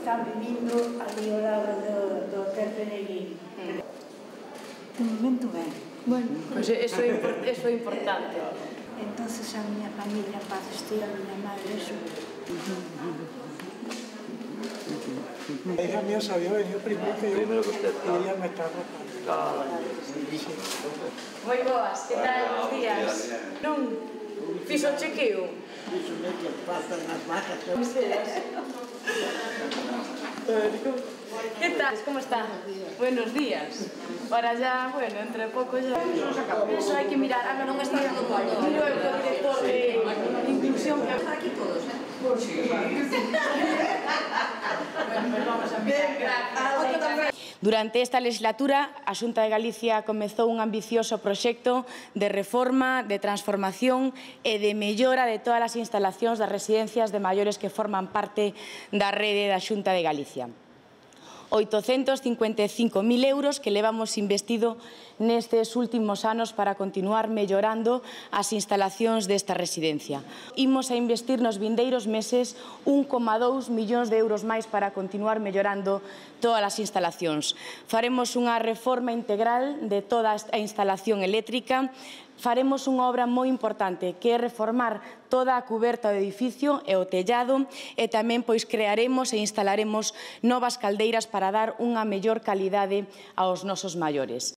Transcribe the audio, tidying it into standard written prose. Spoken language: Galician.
están vivindo ali ao lado do Hotel Peregrino. De momento ben. Bueno, pois eso é importante. Entonces a miña familia, Paz Estea, a miña madre, eso. La hija mía sabía venir primero que yo y ella me está arropando. Moi boas, que tal os días? Non? Fixo o chequeo? Fixo que pasan as vacas. ¿Qué tal? ¿Cómo está? Buenos días. Ahora ya, bueno, entre pouco ya... Eso hai que mirar. Ah, non está todo el mundo. Miro eu co director de inclusión que... Están aquí todos, ¿eh? Sí. Bueno, pues vamos a mirar. Gracias. Durante esta legislatura, a Xunta de Galicia comezou un ambicioso proxecto de reforma, de transformación e de mellora de todas as instalacións das residencias de maiores que forman parte da rede da Xunta de Galicia. 855.000 euros que levamos investido nestes últimos anos para continuar mellorando as instalacións desta residencia. Imos a investir nos vindeiros meses 1,2 millóns de euros máis para continuar mellorando todas as instalacións. Faremos unha reforma integral de toda a instalación eléctrica. Faremos unha obra moi importante, que é reformar toda a cuberta do edificio e o tellado, e tamén pois crearemos e instalaremos novas caldeiras para dar unha mellor calidade aos nosos maiores.